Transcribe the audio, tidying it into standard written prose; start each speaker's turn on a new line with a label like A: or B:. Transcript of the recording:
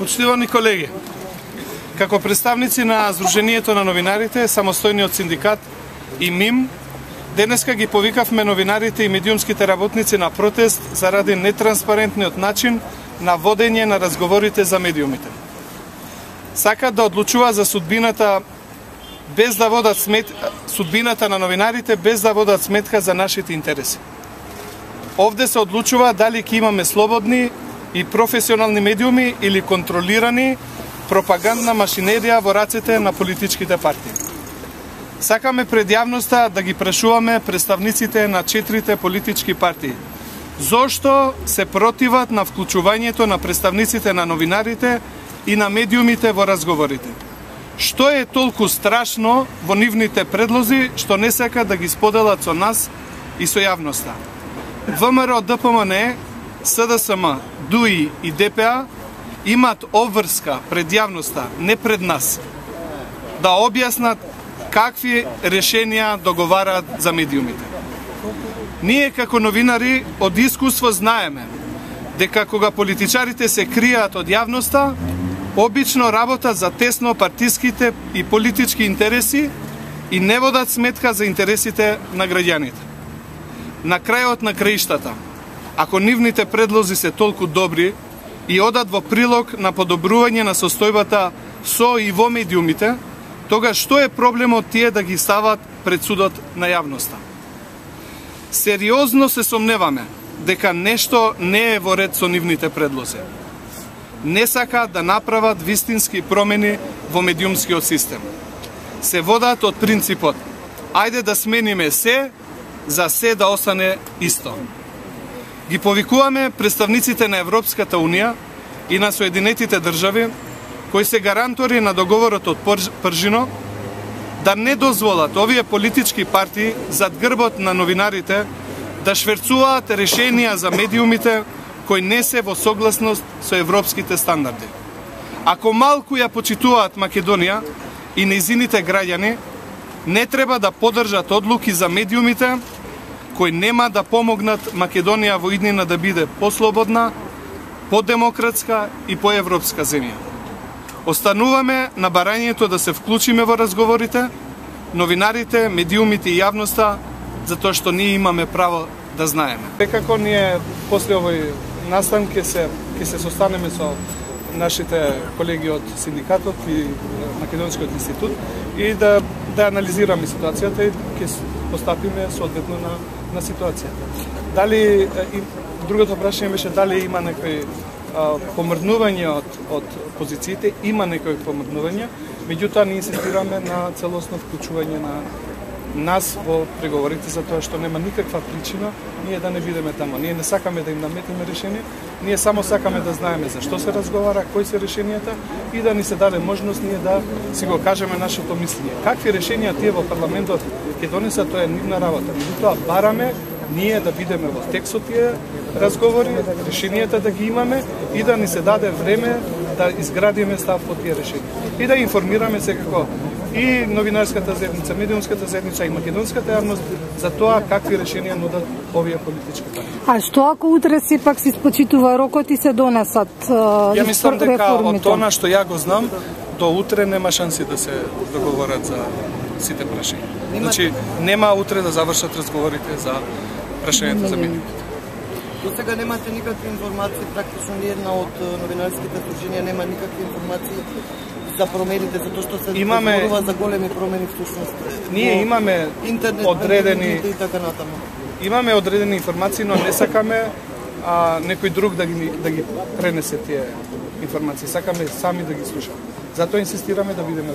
A: Почитувани колеги, како представници на Сдруженијето на новинарите, самостојниот синдикат и МИМ, денеска ги повикавме новинарите и медиумските работници на протест заради нетранспарентниот начин на водење на разговорите за медиумите. Сакат да одлучува за судбината без да водат судбината на новинарите без да водат сметка за нашите интереси. Овде се одлучува дали ќе имаме слободни и професионални медиуми или контролирани пропагандна машинерија во рацете на политичките партии. Сакаме пред јавноста да ги прашуваме представниците на 4 политички партии зошто се противат на вклучувањето на представниците на новинарите и на медиумите во разговорите. Што е толку страшно во нивните предлози што не сака да ги споделат со нас и со јавноста? ВМРО, ДПМН, СДСМ, ДУИ и ДПА имат обврска пред јавноста, не пред нас, да објаснат какви решенија договараат за медиумите. Ние како новинари од искуство знаеме дека кога политичарите се кријат од јавноста, обично работат за тесно партиските и политички интереси и не водат сметка за интересите на граѓаните. На крајот на краиштата, ако нивните предлози се толку добри и одат во прилог на подобрување на состојбата со и во медиумите, тогаш што е проблемот тие да ги стават пред судот на јавноста? Сериозно се сомневаме дека нешто не е во ред со нивните предлози. Не сакаат да направат вистински промени во медиумскиот систем. Се водат од принципот ајде да смениме се, за се да остане исто. Ги повикуваме представниците на Европската Унија и на Соединетите држави, кои се гарантори на договорот од Пржино, да не дозволат овие политички партии зад грбот на новинарите да шверцуваат решенија за медиумите кои не се во согласност со европските стандарди. Ако малку ја почитуваат Македонија и нејзините граѓани, не треба да поддржат одлуки за медиумите кои нема да помогнат Македонија во иднина да биде послободна, подемократска и поевропска земја. Остануваме на барањето да се вклучиме во разговорите, новинарите, медиумите и јавноста, затоа што ние имаме право да знаеме. Како ние после овој настан ќе се состанеме со нашите колеги од синдикатот и Македонскиот институт и да анализираме ситуацијата и ќе постапиме соодветно на ситуацијата. Дали другото прашање беше дали има некои помрднување од позициите, има некои помрднувања, меѓутоа ние инсистираме на целосно вклучување на нас во преговорите, затоа што нема никаква причина ние да не бидеме тамо. Ние не сакаме да им наметиме решение, ние само сакаме да знаеме за што се разговара, кои се решенијата и да ни се даде можност ние да си го кажеме нашето мислење. Какви решенија тие во парламентот ќе донесат, тоа е нивна работа. Меѓутоа бараме ние да бидеме во текст од тие разговори, решенијата да ги имаме и да ни се даде време да изградиме став по тие решенија. И да информираме секако и новинарската заедница, медиумската заедница и македонската јавност за тоа какви решенија нудат овие политички партии.
B: А што ако утре сепак се испочитува рокот и се донесат реформите?
A: Ја мислам дека од тоа што ја го знам, до утре нема шанси да се договорат за сите прашања. Значи, нема утре да завршат разговорите за прашањето за медиумите.
C: До сега немате никакви информации, практично ни една од новинарските сдруженија нема никакви информации за промените, затоа што се говорува за големи промени всушност.
A: Ние имаме
C: интернет,
A: одредени
C: и така натаму.
A: Имаме одредени информации, но не сакаме некој друг да ги пренесе тие информации. Сакаме сами да ги слушаме. Затоа инсистираме да бидеме